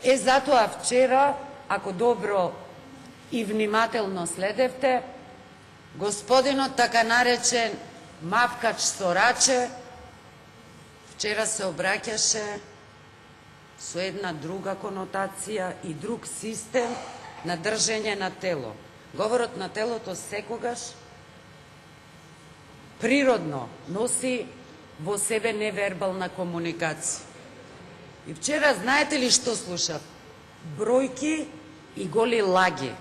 Затоа вчера, ако добро и внимателно следевте, господинот така наречен мавкач со раче вчера се обраќаше со една друга конотација и друг систем на држење на тело. Говорот на телото секогаш природно носи во себе невербална комуникација. И вчера знаете ли што слушав? Бројки и голи лаги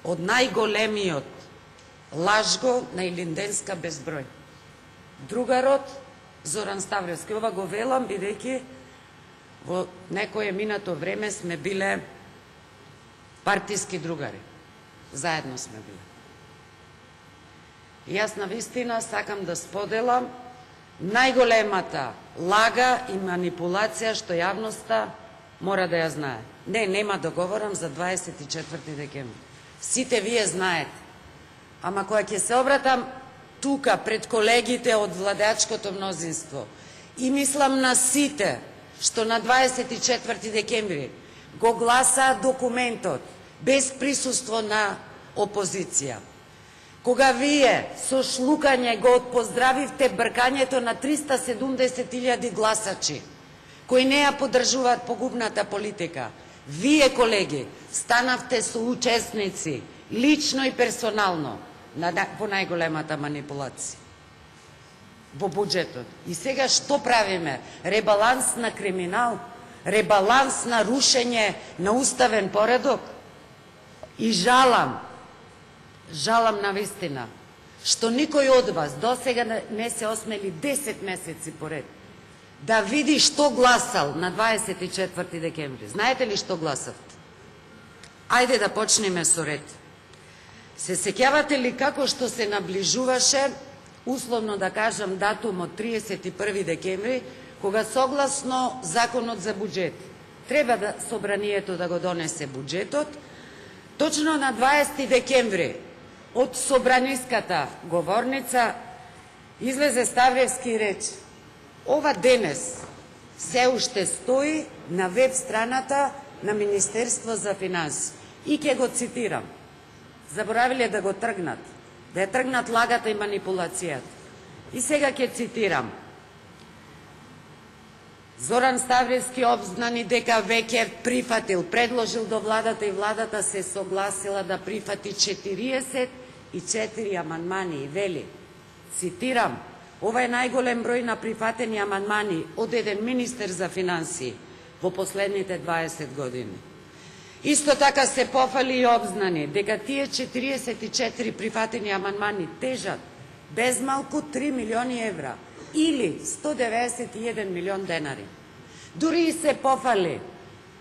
од најголемиот лажго на Илинденска безброј. Другарот Зоран Ставревски. Ова го велам бидејќи во некое минато време сме биле партиски другари. Заедно сме биле. И јас навистина сакам да споделам најголемата лага и манипулација што јавноста мора да ја знае. Нема да говорам за 24 декември. Сите вие знаете. Ама кога ќе се обратам тука пред колегите од владеачкото мнозинство и мислам на сите што на 24 декември го гласаа документот без присуство на опозиција, кога вие со шлукање го отпоздравивте бркањето на 370.000 гласачи кои не ја поддржуваат погубната политика, вие, колеги, станавте соучесници, лично и персонално, во најголемата манипулација во буџетот. И сега што правиме? Ребаланс на криминал? Ребаланс на рушење на уставен поредок? И жалам навистина, што никој од вас досега не се осмели 10 месеци поред да види што гласал на 24 декември. Знаете ли што гласавте? Ајде да почнеме со ред. Се сеќавате ли како што се наближуваше, условно да кажам, датумот 31 декември, кога согласно законот за буџет треба да собранието да го донесе буџетот, точно на 20 декември од собраниската говорница излезе Ставревски и рече: ова денес се уште стои на веб страната на Министерство за финансии. И ќе го цитирам. Заборавиле да го тргнат, да ја тргнат лагата и манипулацијата. И сега ќе цитирам. Зоран Ставревски обзнани дека веќе прифатил, предложил до владата и владата се согласила да прифати 44 амандмани и вели, цитирам, ова е најголем број на прифатени амандмани од еден министер за финансии во последните 20 години. Исто така се пофали и обзнани дека тие 44 прифатени амандмани тежат безмалку 3 милиони евра или 191 милион денари. Дури и се пофали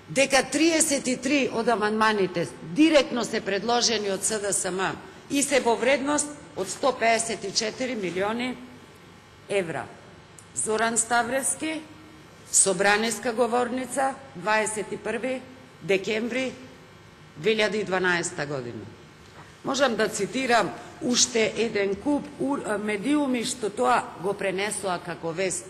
дека 33 од амандманите директно се предложени од СДСМ и се во вредност од 154 милиони евра. Зоран Ставревски, собраниска говорница, 21 декември 2012 година. Можам да цитирам уште еден куп медиуми што тоа го пренесоа како вест.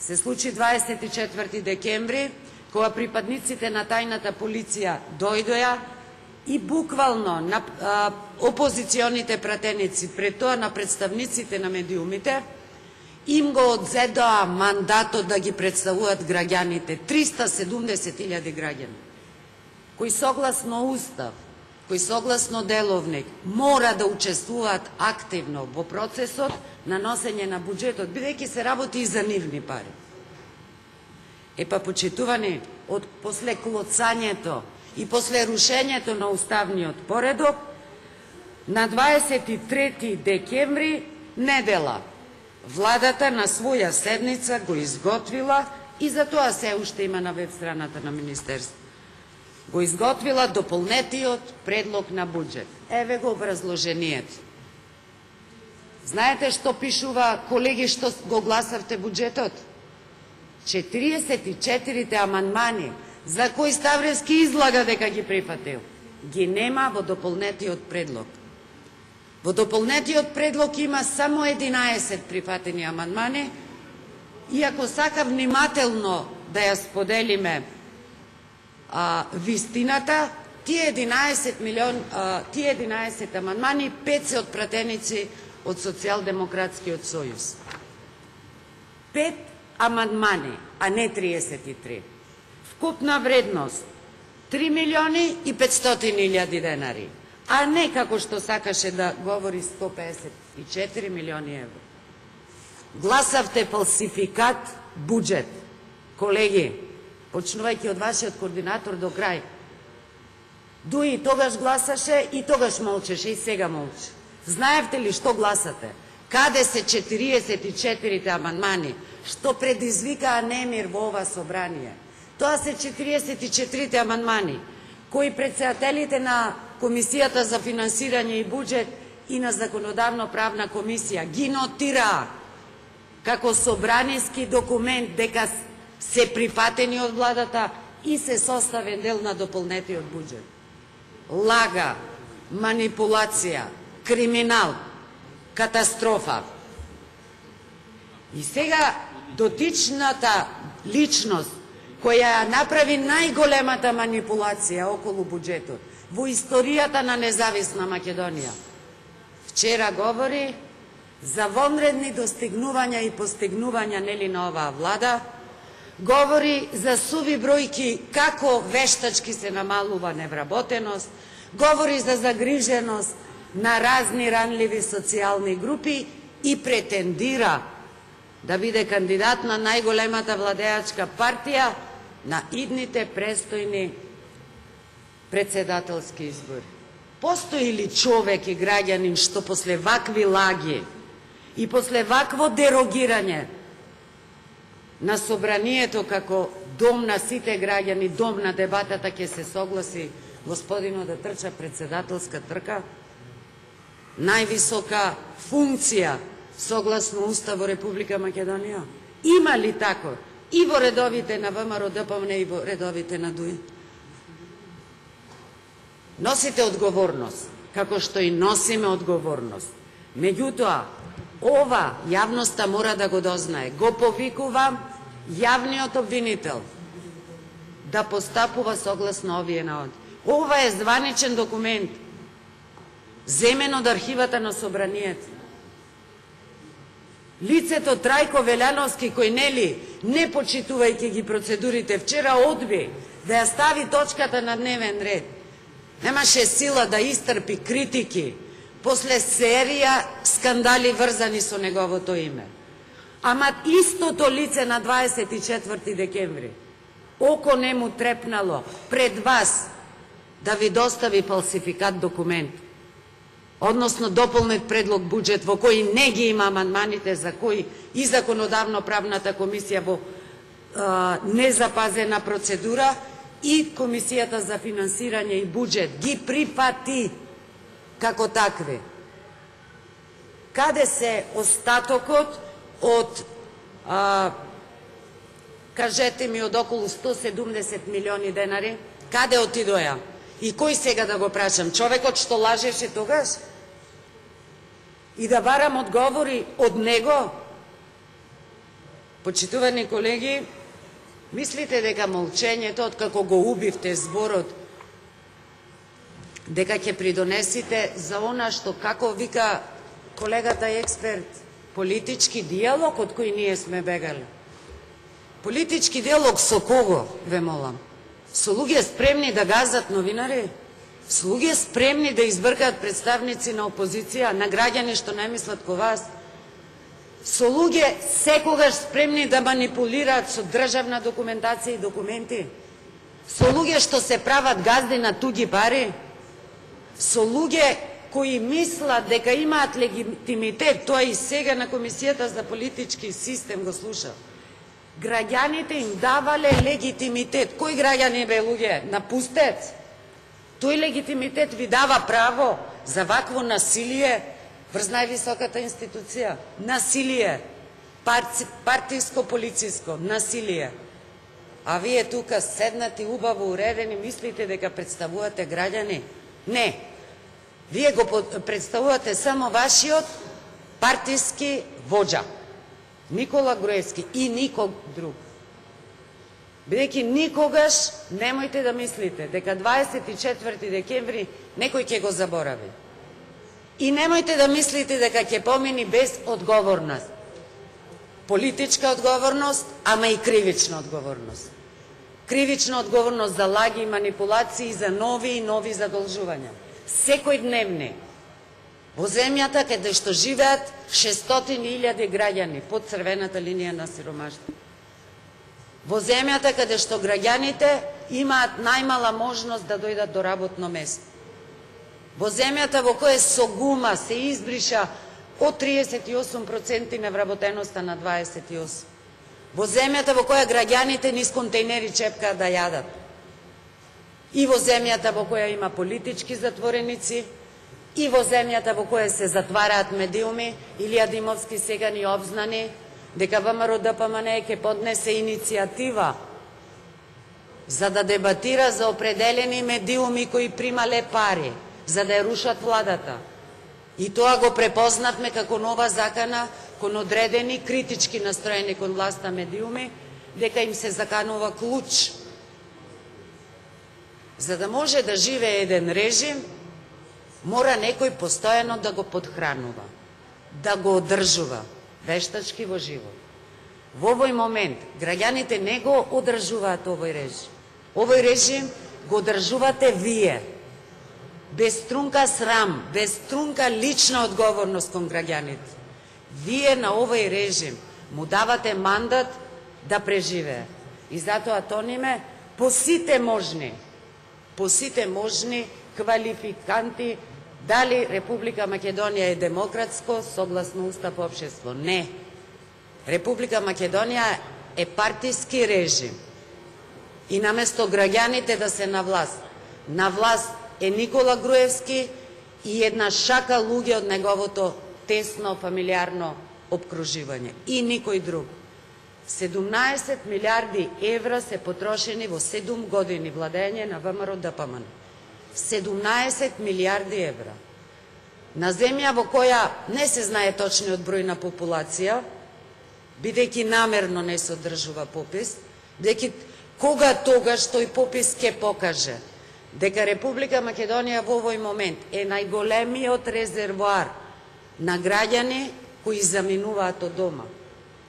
Се случи 24 декември, кога припадниците на тајната полиција дојдоа и буквално на опозиционите пратеници, пред тоа на представниците на медиумите, им го одзедоа мандатот да ги представуваат граѓаните, 370.000 граѓани, кои согласно Устав, кои согласно Деловник, мора да учествуваат активно во процесот на носење на буџетот, бидејќи се работи и за нивни пари. Почитувани, од после клоцањето и после рушењето на уставниот поредок, на 23 декември, недела, владата на своја седница го изготвила, и за тоа се уште има на веб страната на Министерство, го изготвила дополнетиот предлог на буџет. Еве го образложението. Знаете што пишува, колеги, што го гласавте буџетот? 44 амандмани, за кои Ставревски излага дека ги прифатил, ги нема во дополнетиот предлог. Во дополнетиот предлог има само 11 прифатени амандмани, и ако сака внимателно да ја споделиме вистината, тие 11 амандмани, 5 се од пратеници од Социјалдемократскиот сојуз. 5 амандмани, а не 33. Вкупна вредност 3 милиони и 500 илјади денари, а не како што сакаше да говори 154 милиони евро. Гласавте фалсификат буџет. Колеги, почнувајќи од вашиот координатор до крај. Дуи тогаш гласаше и тогаш молчеше и сега молчи. Знаевте ли што гласате? Каде се 44 амандмани што предизвикаа немир во ова собрание? Тоа се 44 амандмани кои претседателите на Комисијата за финансирање и буџет и на Законодавно-правна комисија ги нотираа како собраниски документ дека се прифатени од владата и се составен дел на дополнетиот буџет. Лага, манипулација, криминал, катастрофа. И сега дотичната личност која направи најголемата манипулација околу буџетот во историјата на независна Македонија, вчера говори за вонредни достигнувања и постигнувања нели на оваа влада, говори за суви бројки како вештачки се намалува невработеност, говори за загриженост на разни ранливи социјални групи и претендира да биде кандидат на најголемата владеачка партија на идните престојни председателски избори. Постои ли човек и граѓанин што после вакви лаги и после вакво дерогирање на собранието како дом на сите граѓани, дом на дебатата, ќе се согласи господино да трча председателска трка? Највисока функција согласно Устав во Република Македонија? Има ли тако и во редовите на ВМРО ДПМН и во редовите на ДУИ? Носите одговорност, како што и носиме одговорност. Меѓутоа, ова јавноста мора да го дознае. Го повикувам јавниот обвинител да постапува согласно овие наводи. Ова е званичен документ, земен од архивата на собранието. Лицето Трајко Велјановски, кој нели, не почитувајќи ги процедурите, вчера одби да ја стави точката на дневен ред. Немаше сила да истрпи критики после серија скандали врзани со неговото име. Ама истото лице на 24 декември, око не му трепнало пред вас да ви достави фалсификат документ, односно дополнет предлог буџет во кој не ги има амандманите за кои и Законодавно-правната комисија во незапазена процедура и Комисијата за финансирање и буџет ги прифати како такви. Каде се остатокот од, кажете ми, од околу 170 милиони денари? Каде отидоја? И кој сега да го прашам? Човекот што лажеше тогаш? И да барам одговори од него? Почитувани колеги, мислите дека молчењето, откако го убивте зборот, дека ќе придонесите за она што, како вика колегата експерт, политички диалог од кој ние сме бегали? Политички диалог со кого, ве молам? Со луѓе спремни да газат новинари? Со луѓе спремни да избркаат представници на опозиција, на граѓани што не мислат ко вас? Со луѓе секогаш спремни да манипулираат со државна документација и документи? Со луѓе што се прават газди на туѓи пари? Со луѓе кои мислат дека имаат легитимитет, тоа и сега на Комисијата за политички систем го слуша. Граѓаните им давале легитимитет. Кои граѓани, бе, луѓе? Напустец. Тој легитимитет ви дава право за вакво насилие врз највисоката институција. Насилие. Партиско-полициско насилие. А вие тука седнати, убаво уредени, мислите дека представувате граѓани? Не. Вие го представувате само вашиот партиски воџа. Никола Груевски и никог друг. Бидејќи никогаш немојте да мислите дека 24 декември некој ќе го заборави. И немојте да мислите дека ќе помини без одговорност. Политичка одговорност, ама и кривична одговорност. Кривична одговорност за лаги и манипулации, за нови и нови задолжувања. Секојдневни. Во земјата каде што живеат 600.000 граѓани под црвената линија на сиромаштво. Во земјата каде што граѓаните имаат најмала можност да дојдат до работно место. Во земјата во која со гума се избриша од 38% невработеноста на 28%. Во земјата во која граѓаните низ контейнери чепкаат да јадат. И во земјата во која има политички затвореници, и во земјата во која се затвараат медиуми, Илија Димовски сега ни обзнани дека ВМРО-ДПМН ќе поднесе иницијатива за да дебатира за определени медиуми кои примале пари, за да ја рушат владата. И тоа го препознавме како нова закана кон одредени критички настроени кон власта медиуми, дека им се заканува клуч. За да може да живее еден режим, мора некој постојано да го подхранува, да го одржува вештачки во живот. Во овој момент граѓаните не го одржуваат овој режим. Овој режим го одржувате вие. Без трунка срам, без трунка лична одговорност кон граѓаните. Вие на овој режим му давате мандат да преживее. И затоа тониме по сите можни квалификанти дали Република Македонија е демократско, согласно устав општество. Не. Република Македонија е партиски режим. И наместо граѓаните да се на власт е Никола Груевски и една шака луѓе од неговото тесно фамилиарно обкруживање. И никој друг. 17 милиарди евра се потрошени во 7 години владење на ВМРО-ДПМН. 17 милиарди евра. На земја во која не се знае точниот број на популација, бидејќи намерно не се одржува попис, бидејќи кога тогаш тој попис ќе покаже дека Република Македонија во овој момент е најголемиот резервоар на граѓани кои заминуваат од дома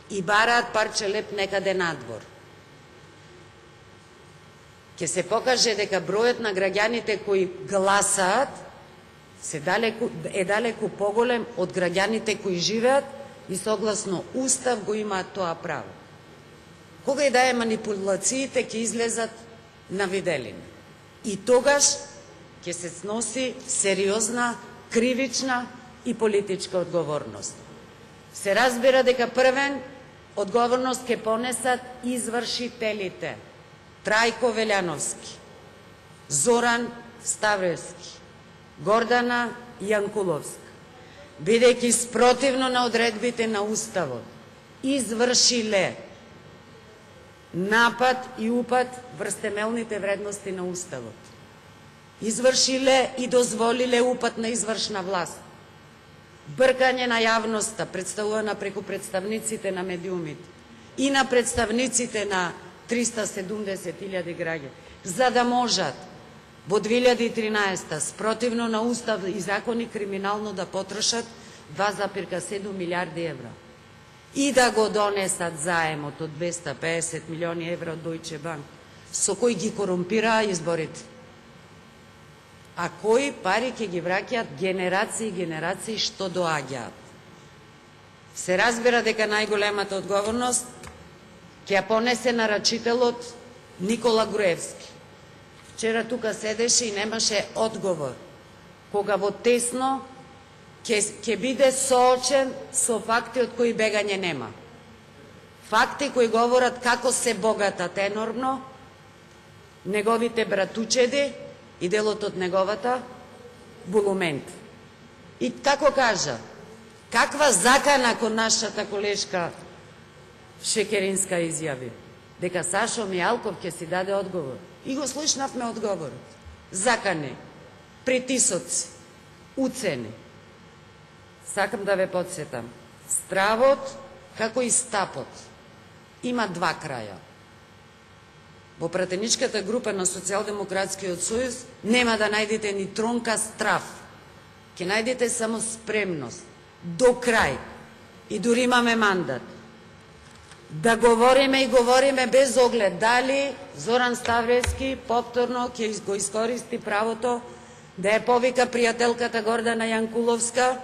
и бараат парче леп некаде надвор. Ќе се покаже дека бројот на граѓаните кои гласаат е далеку поголем од граѓаните кои живеат и согласно устав го имаат тоа право. Кога и да е манипулациите ќе излезат на виделина. И тогаш ќе се сноси сериозна, кривична и политичка одговорност. Се разбира дека првен одговорност ќе понесат извршителите. Трајко Велјановски, Зоран Ставревски, Гордана Јанкуловска, бидејќи спротивно на одредбите на Уставот, извршиле напад и упад врз темелните вредности на Уставот. Извршиле и дозволиле упад на извршна власт. Бркање на јавноста, представувана преку представниците на медиумите и на представниците на 370.000 граѓани, за да можат во 2013 спротивно на Устав и закони криминално да потрошат 2,7 милиарди евра и да го донесат заемот од 250 милиони евра од Deutsche Bank, со кој ги корумпираа изборите. А кои пари ќе ги враќаат генерации и генерации што доаѓаат. Се разбира дека најголемата одговорност ќе ја понесе нарачителот Никола Груевски. Вчера тука седеше и немаше одговор, кога во тесно ќе биде соочен со факти од кои бегање нема. Факти кои говорат како се богатат енормно неговите братучеди и делот од неговата булумент. И како кажа, каква закана кон нашата колешка Шекеринска изјави, дека Сашо Мијалков ќе си даде одговор. И го слушнавме одговорот. Закани, притисоци, уцени. Сакам да ве подсетам. Стравот, како и стапот, има два краја. во пратеничката група на Социјалдемократскиот сојуз нема да најдете ни тронка страв. Ќе најдете само спремност до крај и дури имаме мандат да говориме и говориме без оглед дали Зоран Ставревски повторно ќе го искористи правото да ја повика пријателката Гордана Јанкуловска,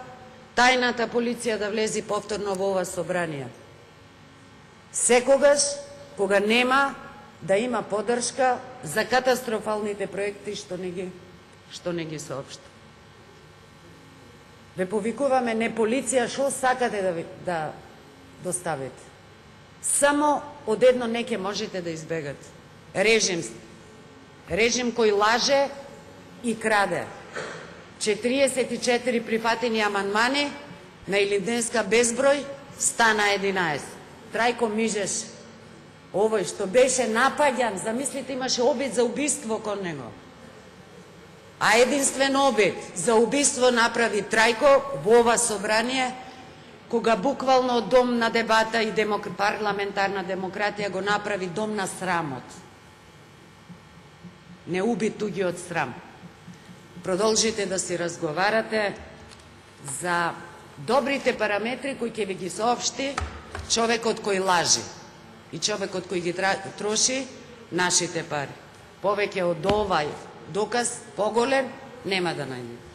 тајната полиција да влези повторно во ова собрание. Секогаш кога нема да има поддршка за катастрофалните проекти што не ги соопшти. Ве повикуваме не полиција, што сакате да доставите. Само од едно не ќе можете да избегате. Режим. Режим кој лаже и краде. 44 прифатени амандмани на Илинденска безброј стана 11. Трајко Мижеш, овој што беше напаѓан, замислите, имаше обид за убиство кон него. А единствен обид за убиство направи Трајко во ова собрание, кога буквално дом на дебата и парламентарна демократија го направи дом на срамот. Не уби туѓи од срам. Продолжите да си разговарате за добрите параметри кои ќе ви ги соопшти човекот кој лажи и човекот кој ги троши нашите пари. Повеќе од овај доказ поголем нема да најдете.